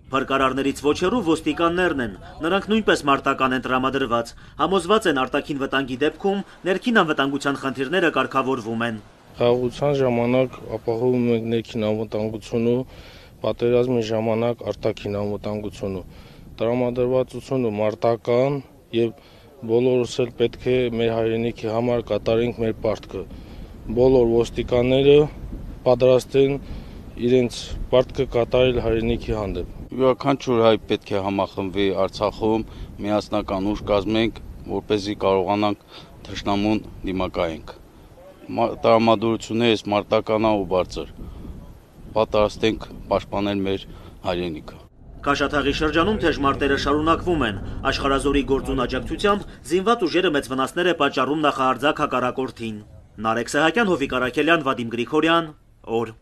Փրկարարներից ոչ հեռու ոստիկաններն են, նրանք նույնպես մարտական են տրամադրված, համոզված են արտաքին վտանգի դեպքում ներքին անվտանգության խնդիրները կարգավորվում են։ Խաղաղության ժամանակ ապահովում ենք ներքին անվտանգությունը, պատերազմի ժամանակ արտաքին անվտանգությունը, տրամադրվածությունը մարտական եւ բոլորս էլ պետք է մեր հայրենիքի համար կատարենք մեր պարտքը։ Բոլոր ոստիկանները պատրաստ են իրենց պարտքը կատարել հայրենիքի հանդեպ։ Յուրաքանչյուր հայ պետք է համախմբվի Արցախում, միասնական ուժ կազմենք, որպեսզի կարողանանք թշնամուն դիմակայենք։ Տրամադրություններս մարտականա ու բարձր։ Պատրաստ ենք պաշտպանել մեր հայրենիքը։ Քաշաթաղի շրջանում թեժ մարտերը շարունակվում են։ Աշխարհազորի գործուն աջակցությամբ զինված ուժերը մեծ վնասներ է պատճառում նախահարձակ հակառակորդին։ Նարեկ Սահակյան, Հովիկ Արաքելյան, Վադիմ Գրիգորյան, օր։